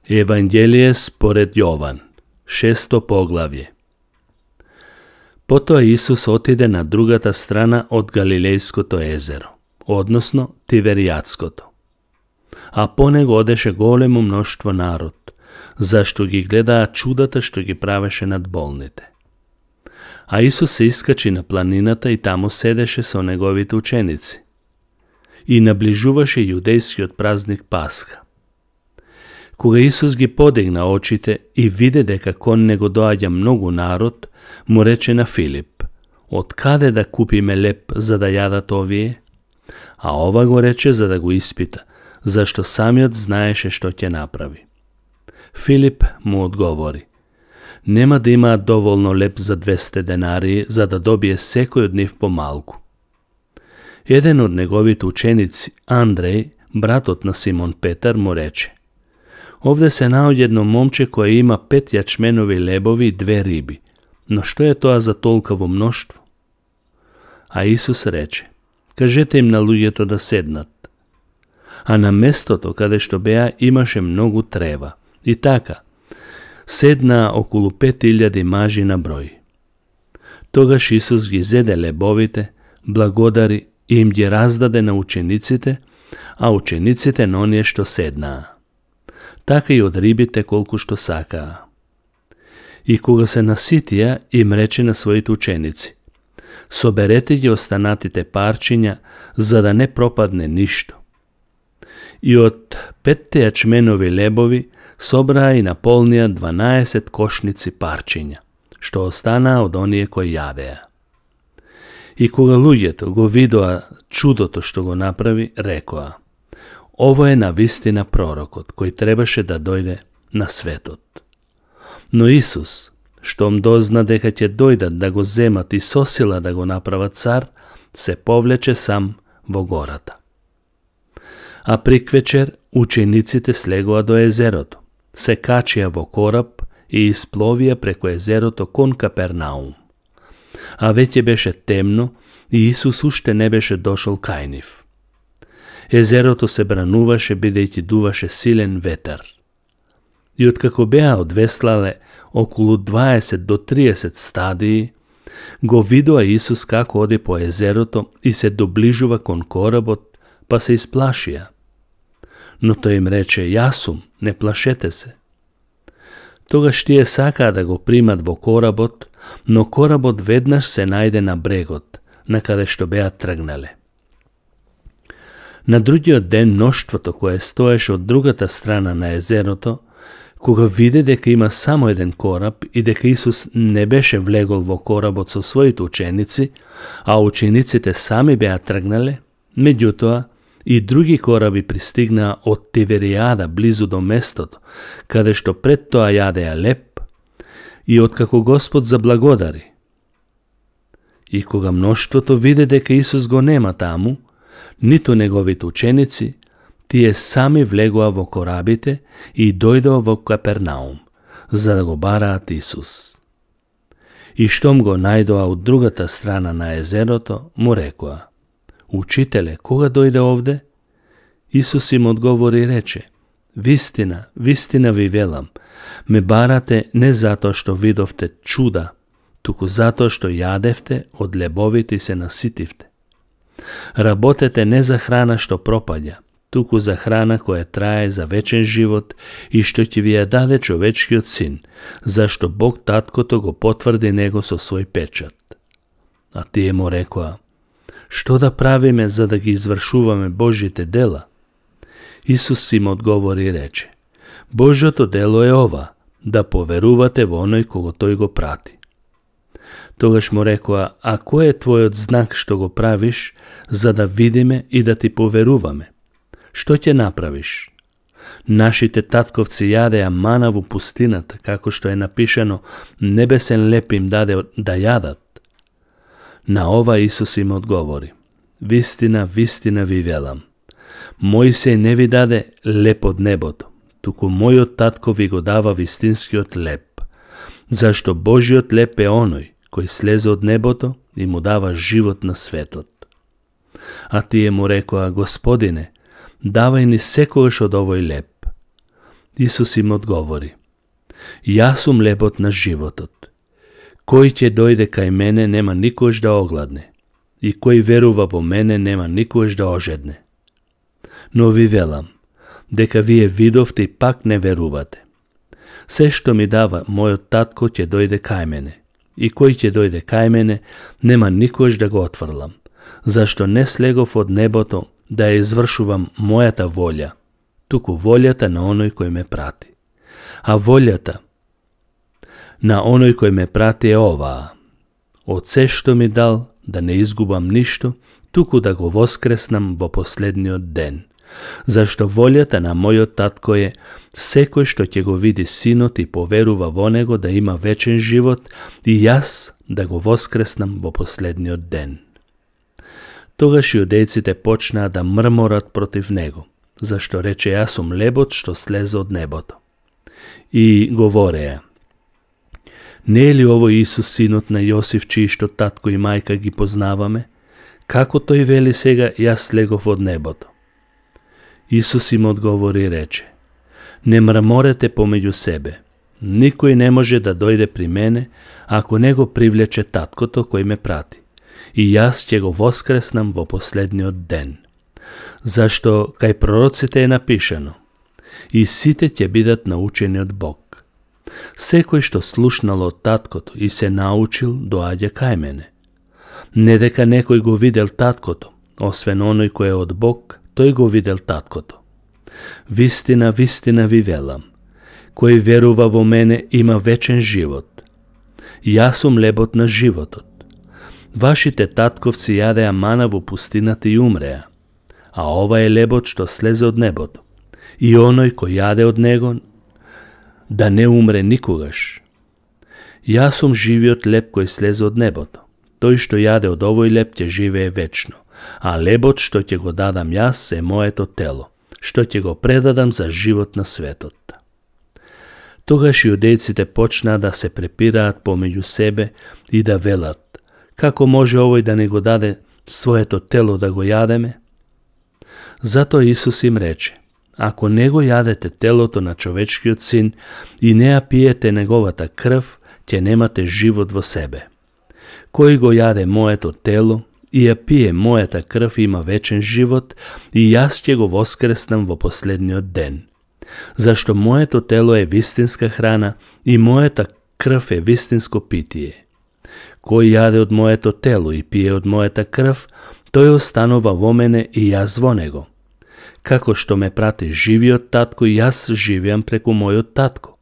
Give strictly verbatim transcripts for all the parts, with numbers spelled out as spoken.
Евангелие според Јован, шесто поглавје. Потоа Исус отиде на другата страна од Галилејското езеро, односно Тиверијатското. А по него одеше големо мноштво народ, зашто ги гледаа чудата што ги правеше над болните. А Исус се искачи на планината и таму седеше со неговите ученици. И наближуваше јудејскиот празник Пасха. Кога Исус ги подигна очите и виде дека кон него доаѓа многу народ, му рече на Филип: "Од каде да купиме леп за да јадат овие?" А ова го рече за да го испита, зашто самиот знаеше што ќе направи. Филип му одговори: "Нема да имаат доволно леп за двесте денарии, за да добие секој од нив помалку." Еден од неговите ученици, Андреј, братот на Симон Петар, му рече: "Овде се наоѓа едно момче кое има пет јачменови лебови и две риби, но што е тоа за толкаво мноштво?" А Исус рече: "Кажете им на луѓето да седнат." А на местото каде што беа имаше многу трева, и така седнаа околу пет илјади мажи на број. Тогаш Исус ги зеде лебовите, благодари и им ги раздаде на учениците, а учениците на оние што седнаа. Така и од рибите колку што сакаа. И кога се наситија, им рече на своите ученици: "Соберете ги останатите парчиња, за да не пропадне ништо." И од петте јачменови лебови собраа и наполнија дванаесет кошници парчиња, што останаа од оние кои јадеа. И кога луѓето го видоа чудото што го направи, рекоа: "Ово е навистина пророкот, кој требаше да дојде на светот." Но Исус, штом дозна дека ќе дојдат да го земат и со сила да го направат цар, се повлече сам во гората. А приквечер учениците слегоа до езерото, се качија во кораб и испловија преку езерото кон Капернаум. А веќе беше темно и Исус уште не беше дошол кај нив. Езерото се брануваше бидејќи дуваше силен ветер. И откако беа одвеслале околу дваесет до триесет стадии, го видоа Исус како оди по езерото и се доближува кон коработ, па се исплашија. Но тој им рече: "Јас сум, не плашете се." Тогаш тие сакаа да го примат во коработ, но коработ веднаш се најде на брегот, на каде што беа тргнале. На другиот ден мноштвото кое стоеше од другата страна на езерото, кога виде дека има само еден кораб и дека Исус не беше влегол во коработ со своите ученици, а учениците сами беа тргнале, меѓутоа и други кораби пристигнаа од Тиверијада близу до местото, каде што пред тоа јадеа леп, и откако Господ заблагодари. И кога мноштвото виде дека Исус го нема таму, ниту неговите ученици, тие сами влегоа во корабите и дојдоа во Капернаум, за да го бараат Исус. И штом го најдоа од другата страна на езерото, му рекоа: "Учителе, кога дојде овде?" Исус им одговори и рече: "Вистина, вистина ви велам, ме барате не затоа што видовте чуда, туку затоа што јадевте од лебовите и се наситивте. Работете не за храна што пропаѓа, туку за храна која трае за вечен живот и што ќе ви ја даде човечкиот син, зашто Бог Таткото го потврди него со свој печат." А тие му рекоа: "Што да правиме за да ги извршуваме Божите дела?" Исус им одговори и рече: "Божјото дело е ова, да поверувате во оној кого тој го прати." Тогаш му рекоа: "А кој е твојот знак што го правиш, за да видиме и да ти поверуваме? Што ќе направиш? Нашите татковци јадеа мана во пустината, како што е напишано: небесен леп им даде да јадат." На ова Исус им одговори: "Вистина, вистина ви велам, Мојсей не ви даде леп од небото, туку мојот татко ви го дава вистинскиот леп, зашто Божиот леп е оној кој слезе од небото и му дава живот на светот." А тие му рекоа: "Господине, давај ни секогаш од овој леп." Исус им одговори: Јас сум лебот на животот. Кој ќе дојде кај мене нема никош да огладне, и кој верува во мене нема никош да ожедне. Но ви велам, дека вие видовте и пак не верувате. Се што ми дава мојот татко ќе дојде кај мене, и кој ќе дојде кај мене нема никош да го отфрлам, зашто не слегов од небото да ја извршувам мојата волја, туку волјата на оној кој ме прати. А волјата на оној кој ме прати е оваа: од се што ми дал да не изгубам ништо, туку да го воскреснам во последниот ден. Зашто волјата на мојот татко е секој што ќе го види синот и поверува во него да има вечен живот, и јас да го воскреснам во последниот ден. Тогаш јудејците почнаа да мрморат против него, зашто рече: Јас сум лебот што слезе од небото. И говореа: Не е ли овој Исус синот на Јосиф, чиишто татко и мајка ги познаваме? Како тој вели сега: Јас слегов од небото? Исус им одговори и рече: Не мрморете помеѓу себе. Никој не може да дојде при мене, ако не го привлече таткото кој ме прати. И јас ќе го воскреснам во последниот ден. Зашто кај пророците е напишано: И сите ќе бидат научени од Бог. Секој што слушнал од таткото и се научил, доаѓа кај мене. Не дека некој го видел таткото, освен оној кој е од Бог, тој го видел таткото. Вистина, вистина ви велам, кој верува во мене има вечен живот. Јас сум лебот на животот. Вашите татковци јадеа мана во пустината и умреа, а ова е лебот што слезе од небото. И оној кој јаде од него да не умре никогаш. Јас сум живиот леб кој слезе од небото. Тој што јаде од овој леб ќе живее вечно, а лебот што ќе го дадам јас е моето тело, што ќе го предадам за живот на светот. Тогаш јудејците почнаа да се препираат помеѓу себе и да велат: Како може овој да не го даде своето тело да го јадеме? Затоа Исус им рече: Ако не го јадете телото на човечкиот син и не ја пиете неговата крв, ќе немате живот во себе. Кој го јаде моето тело и ја пие мојата крв има вечен живот, и јас ќе го воскреснам во последниот ден. Зашто моето тело е вистинска храна и мојата крв е вистинско питие. Кој јаде од моето тело и пие од мојата крв, тој останува во мене и јас во него. Како што ме прати живиот татко, и јас живеам преку мојот татко,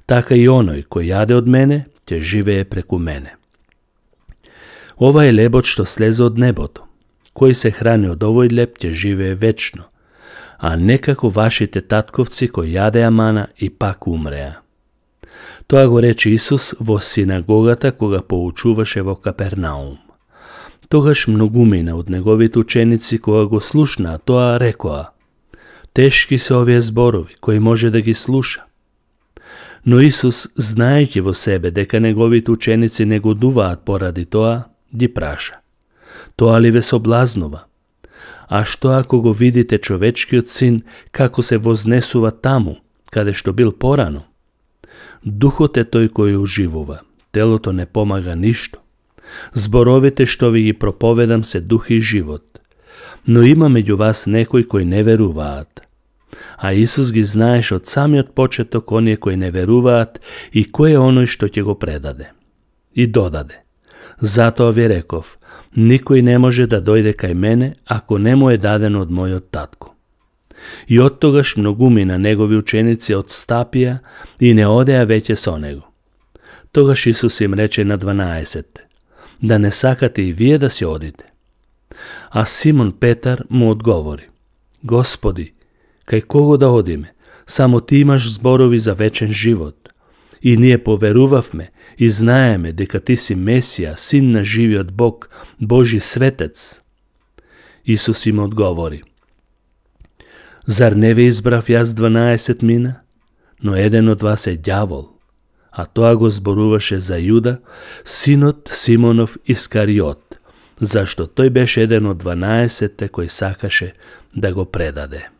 така и оној кој јаде од мене, ќе живее преку мене. Ова е лебот што слезе од небото. Кој се храни од овој леб ќе живее вечно, а не како вашите татковци кои јадеа мана и пак умреа. Тоа го рече Исус во синагогата кога поучуваше во Капернаум. Тогаш многумина од неговите ученици кога го слушнаа тоа рекоа: Тешки се овие зборови, кој може да ги слуша? Но Исус, знаејќи во себе дека неговите ученици негодуваат поради тоа, ги праша: Тоа ли ве соблазнува? А што ако го видите човечкиот син како се вознесува таму, каде што бил порано? Духот е тој кој оживува, телото не помага ништо. Зборовите што ви ги проповедам се дух и живот, но има меѓу вас некои кои не веруваат. А Исус ги знаеш од самиот почеток оние кои не веруваат и кој е оној што ќе го предаде. И додаде: Затоа ви реков, никој не може да дојде кај мене ако не му е дадено од мојот татко. И оттогаш многумина негови ученици отстапија и не одеа веќе со него. Тогаш Исус им рече на дванаесетте: Да не сакате и вие да си одите? А Симон Петар му одговори: Господи, кај кого да одиме? Само ти имаш зборови за вечен живот. И ние поверувавме и знаеме дека ти си Месија, син на живиот Бог, Божи светец. Исус им одговори: Зар не ве избрав јас дванаесет мина? Но еден од вас е ѓавол. А тоа го зборуваше за Јуда, синот Симонов Искариот, зашто тој беше еден од дванаесетте кој сакаше да го предаде.